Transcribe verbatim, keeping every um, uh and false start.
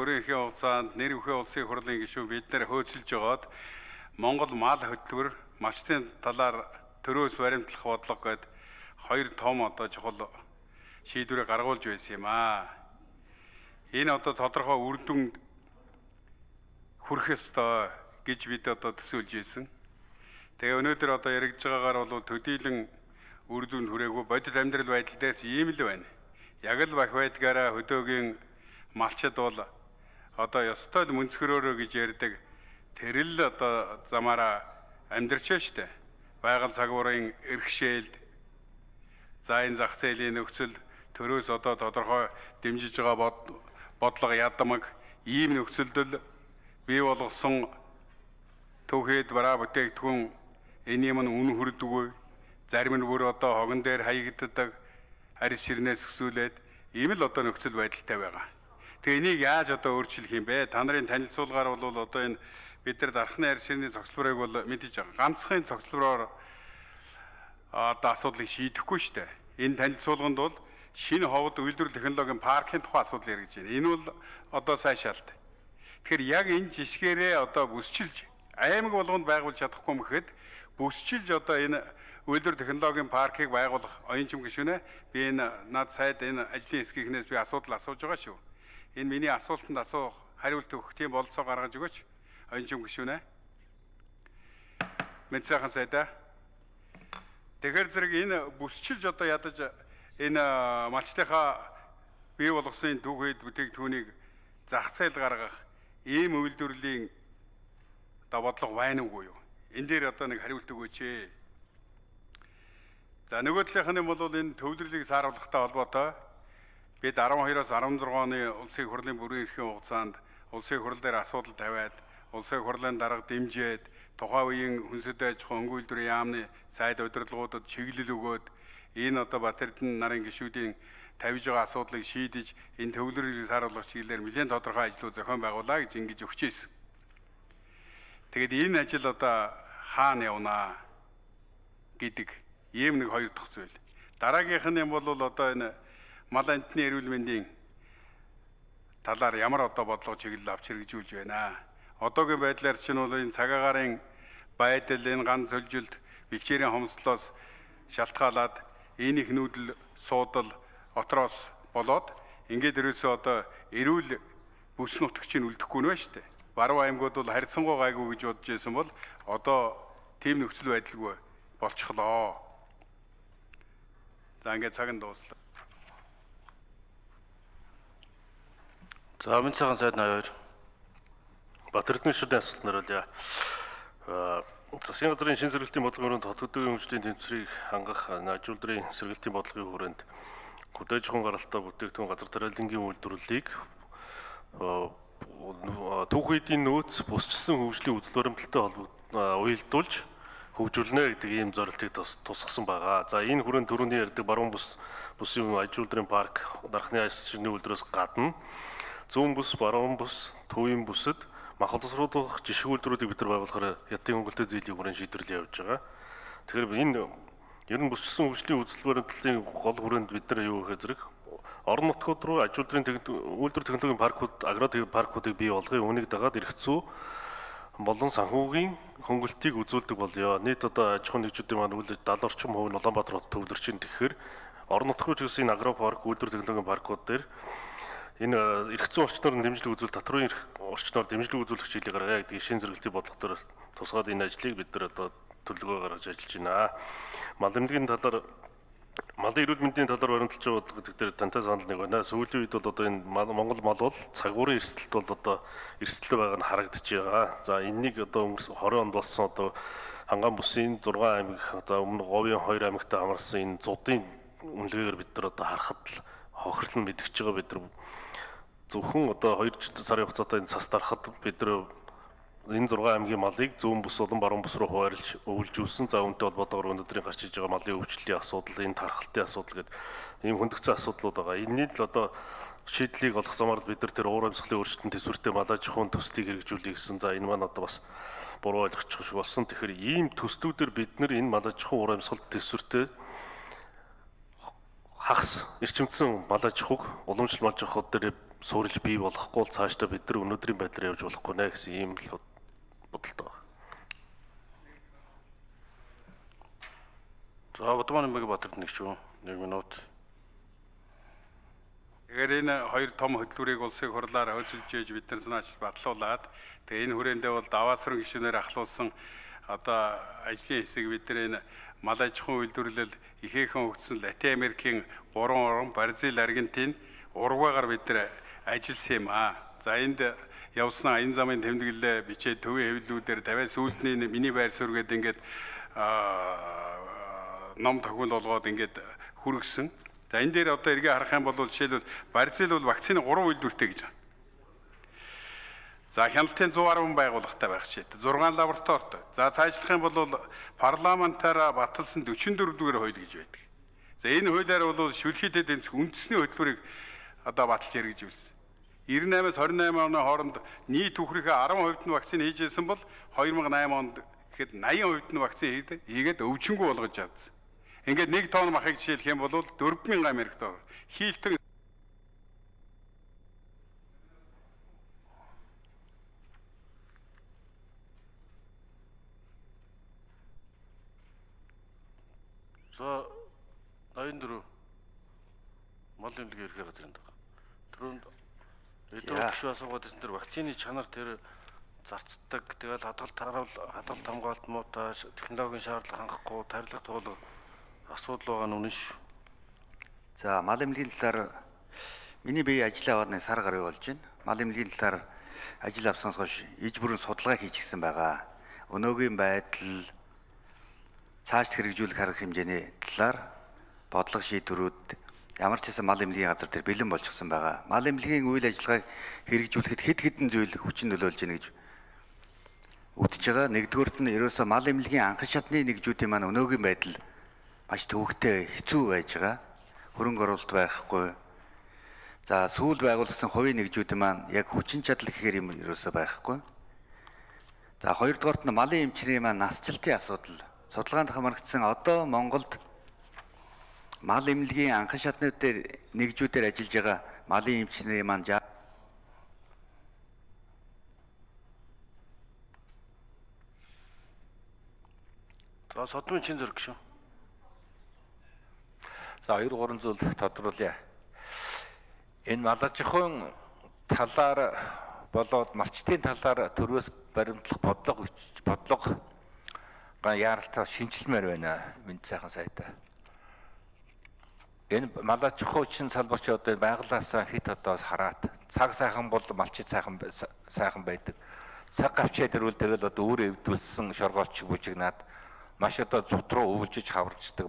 Өөрийнхөө хугацаанд нэр бүхий улсын хурлын гишүүн бид нэр хөөцөлж байгаад Монгол мал хөтөлбөр малчтын талаар төрөөс баримтлах бодлого гээд хоёр том одоо чухал шийдвэрийг гаргуулж байсан юм аа. Энэ одоо тодорхой үр дүнд хүрэх ёстой гэж бид одоо төсөөлж байсан. Тэгээ өнөөдөр одоо яригдж байгаагаар бол төдийлөн үр дүнд хүрээгүй бодит амьдрал байдал дээрс ийм л байна. Яг л бах байдгаараа хөдөөгийн малчид бол одоо ёстой л мөнцгөрөөрөө гэж ярьдаг. Тэр л одоо замаараа амьдрч штэ. Байгаль цагуурын эрхшээлд за энэ зах зээлийн нөхцөл төрөөс одоо тодорхой дэмжиж байгаа бодлого ядамаг ийм нөхцөлд бий болгосон төвхөд бараа бүтээгдэхүүн энэ юм нь үн хүрдэггүй. Зарим нь бүр одоо хогон дээр хаягддаг арьс ширнээс өсүүлээд ийм л одоо нөхцөл байдалтай байгаа. Тэгээ энийг яаж одоо өөрчлөх юм бэ? Та нарын танилцуулгаар бол одоо энэ бид нар дархны арьс ширний цогцлборыг бол мэдэж байгаа. Ганцхан цогцлбороор одоо асуудлыг шийдэхгүй шүү дээ. Энэ танилцуулганд бол шинэ ховд үйлдвэрлэл технологийн паркын тухай асуудал яригдж байна. Энэ бол одоо сайн шалт. Тэгэхээр яг энэ жишгээрээ одоо бүсчилж аймаг болгонд байгуулж чадахгүй мэхэд бүсчилж одоо энэ үйлдвэрлэл технологийн паркийг байгуулах оюунчим гишүүнэ би энэ над сайд энэ ажлын хэсгийнхнээс би асуудал асууж байгаа шүү. Энэ миний асуултанд асуух хариулт өгөх тийм болцоо гаргаж өгөөч оюунчим гишүүнэ. Мэд сайхан сайдаа. Тэгэхээр зэрэг энэ бүсчилж одоо ядаж энэ малчтынхаа бий болгосон түүхэд бүтээгдэхүүнийг зах зээл гаргах ийм үйлдвэрлэлийн бодлого байна уугүй юу? Энэ дээр одоо нэг хариулт өгөөч ээ. За нөгөө талынх нь бол энэ төвлөрлийг сааруулахтай холбоотой бид арван хоёроос арван зургаан оны улсын хурлын бүрэн эрхийн хугацаанд улсын хурал дээр асуудал тавиад улсын хурлын дарга дэмжиж тухайн үеийн хүнсэд аж ахуй өнгө үйлдвэрийн яамны сайд удирдлагуудад чиглэл өгөөд энэ одоо Батэрдэн нарын гишүүдийн тавьж байгаа асуудлыг шийдэж энэ төвлөрлийг сааруулах чиглэлээр нэлээд тодорхой ажлууд зохион байгуулаа гэж ингэж өгч ийсэн. Тэгэд энэ ажил одоо хаана явнаа гэдэг ийм нэг хоёр дахь зүйл. Дараагийнх нь бол одоо энэ мал амтны эрүүл мэндийн талаар ямар одоо бодлого чиглэл авч хэрэгжүүлж байна. Одоогийн байдлаар чинь бол энэ цагаагаарын байдал энэ ганц зөвлөлд бэлчээрийн хомслоос шалтгаалаад энэ их нүүдэл суудал отроос болоод ингээд ерөөсөө одоо эрүүл бүс нутагчийг үлдэхгүй нэ шүү дээ. Баруун аймагуд бол харьцангуй гайгүй гэж бодож байсан бол одоо тийм нөхцөл байдалгүй болчихлоо. За ингээд цаг нь дууслаа. За өмнө цагаан сайд наяар Батэрдэн шүдэн асуулт наруулъя. Засгийн газрын шинэ сэргэлтийн бодлогын хүрээнд хот хөдөөгийн хөгжлийн тэнцвэрийг хангах ажилуулдрын сэргэлтийн бодлогын хүрээнд хөдөөж хүн гаралтай бүтээгдэхүүн газар тариалангийн үйлдвэрлэлийг түүхийдийн нөөц бусчилсан хөгжлийн үзэл баримталтай уялдуулж хөгжүүлнэ гэдэг ийм зорилтыг тусгасан байгаа. За энэ хүрээнд түрүүний ярьдаг баруун бус бусын ажилуулдрын парк дархны арьс ширний үйлдвэрээс гадна зүүн бус, баруун бус, төвийн бүсэд мах боловсруулах жишг үйлдвэрүүдийг бид нар байгуулахаар ядын хөнгөлтэй зээлийн хүрээнд шийдвэрлэл явьж байгаа. Тэгэхээр энэ ер нь бусчилсан хөгжлийн үзэл баримтлалын гол хүрээнд бид нар юу гэхээр зэрэг орон нутгууд руу ажилуулдрын үйлдвэр технологийн паркууд, агро паркуудыг бий болгохын үүнийг дагаад эрх зүй болон санхүүгийн хөнгөлтийг үзүүлдэг болёо. Нийт одоо аж ахуйн нэгжүүдийн маань үйл даал орчим хувь нь Улаанбаатар хот төвлөрчин тэгэхээр орон нутг руу ч гэсэн энэ агро парк, үйлдвэр технологийн паркууд дээр энэ эрх зүйн орчноор дэмжлэг үзүүл татврын эрх орчноор дэмжлэг үзүүлэх чиглэлийг гаргая гэдэг шинэ зэрэглэлийн бодлогоор тусгаад энэ ажлыг бид нар одоо төлөвлөгөө гаргаж ажиллаж байна. Мал эмнэлгийн талаар малын эрүүл мэндийн талаар баримталж байгаа бодлого гэдэг дээр тантай санал нэг байна. Сүүлийн үед бол одоо энэ Монгол мал бол цагуурын эрсдэлт бол одоо эрсдэлтэй байгаа нь харагдаж байгаа. За энэнийг одоо өнгөрсөн хорин онд болсон одоо Ханган бүсийн зургаан аймаг за өмнө Говийн хоёр аймагтай хамарсан энэ зуудын үнэлгээгээр бид нар одоо харахад л хохирлон мэдгэж байгаа. Бид нар зөвхөн одоо хоёр сарын хугацаатай энэ цас дарахад бид нар энэ зургаан аймгийн малыг зүүн бүс болон баруун бүс рүү хуваарлж өвлжүүлсэн. За үүнтэй холбоотойгоор өнөөдрийн гарч иж байгаа малын өвчлөлийн асуудал, энэ тархалтын асуудал гэдэг ийм хөндөгцөн асуудлууд байгаа. Энэний л одоо шийдлийг олох замаар бид нар тэр уур амьсгалын өөрчлөлтөнд төсвөртэй мал аж ахуйн төслийг хэрэгжүүлэх гэсэн. За энэ маань одоо бас буруу ойлгочих шиг болсон. Тэгэхээр ийм төслүүдээр бид нар энэ мал аж ахуйн уур амьсгалт төсвөртэй хагас эрчимдсэн мал аж ахуйг уламжлал мал аж ахуйд дээр суурилж бий болохгүй бол цаашдаа бид нар өнөөдрийн байдлаар явж болохгүй нэ гэсэн ийм л бодолтой байна. За Будман Нэмбатарт нэг шүү. нэг минут. Тэгэхээр энэ хоёр том хөтөлбөрийг улсын хурлаар хөлсөлж ээж бид нар санаачилж батлуулад тэгээ энэ хүрээндээ бол даваасран гишүүнээр ахлуулсан одоо ажлын хэсэг бид нар энэ мал аж ахуйн үйлдвэрлэл ихээхэн хөгжсөн Латин Америкийн гурван орн Бразил, Аргентин, Уругвайгаар бид нар ажилласан юм аа. За энд явснаа энэ замын тэмдэглэлээ бичээд төвийн хэвлэлүүдээр тавиа сүүлдний миний байр суурь гэдэг ингээд ном тохиол болгоод ингээд хүргэсэн. За энэ дээр одоо эргээ харах юм бол жишээлбэл Бразил бол вакцины гурван үйлдвэртэй гэж байна. За хяналтын зуун арван байгууллагатай байх чийд зургаан лабораторитой. За цаашлах юм бол парламентаараа баталсан дөрвөн дөрвдүгээр хууль гэж байдаг. За энэ хуулиар бол шүлхийдэд тэмцэх үндэсний хөтөлбөрийг одоо баталж яригж үзсэн. девяносто восемь-аас двадцать восемь оны хооронд нийт түүхрийнхээ ten хувьд нь вакцин хийжсэн бол two thousand eight онд гэхэд eighty хувьд нь вакцин хийгээд өвчнгүй болгож чадсан. Ингээд нэг тонн махыг жишээлх юм бол four thousand Америк доллар. Хийлтэн За ninety-four мал эмнэлгийн ерхий газрын даг. Түрүүнд эдгээр гişүү асуугаад ирсэн тэр вакцины чанар тэр зарцдаг тэгэл хадгалт хараал хадгалт хамгаалалт муутай технологийн шаардлага хангахгүй тарилга туулга асуудал байгаа нь үнэн шүү. За мал эмнэлгийн талаар миний бие ажиллаа аваад нэг сар гаруй болж байна. Мал эмнэлгийн талаар ажил авснаас хойш иж бүрэн судалгаа хийчихсэн байгаа. Өнөөгийн байдал цааш хэрэгжүүлэх арга хэмжээний талаар бодлого шийдвэрүүд ямар ч хэсэг мал эмнэлгийн газар дээр бэлэн болчихсон байгаа. Мал эмнэлгийн үйл ажиллагааг хэрэгжүүлэхэд хэд хэдэн зүйл хүчин нөлөөлж байна гэж үзэж байгаа. Нэгдүгээрт нь ерөөсөө мал эмнэлгийн анхан шатны нэгжүүдийн маань өнөөгийн байдал маш төвөгтэй хэцүү байж байгаа. Хөрөнгө оруулалт байхгүй. За сүүл байгуулсан хувийн нэгжүүдийн маань яг хүчин чадал гэхээр юм ерөөсөө байхгүй. За хоёрдугаарт нь малын эмчнэрийн маань насжилтын асуудал судалгаанд хамрагдсан одоо Монголд мал эмнэлгийн анхан шатнууд дээр нэгжүүдээр ажиллаж байгаа малын эмчнэрийн маань За содмын чин зэрэг шүү. За хоёр гурван зүйл тодруулъя. Энэ мал аж ахуйн талаар болоод малчтын талаар төрөөс баримтлах бодлого бодлого яаралтай шинжилмээр байна. Мэд сайхан сайтай. Энэ мал аж ахуй чин салбарч одоо байгалаасаа хит одоо хараад цаг сайхан бол малчид сайхан сайхан байдаг. Цаг гавчаад ирвэл тэгэл одоо өөрөө эвдүүлсэн шоргоолч бүжигнаад маш одоо зүт руу өвлжиж хаварчдаг.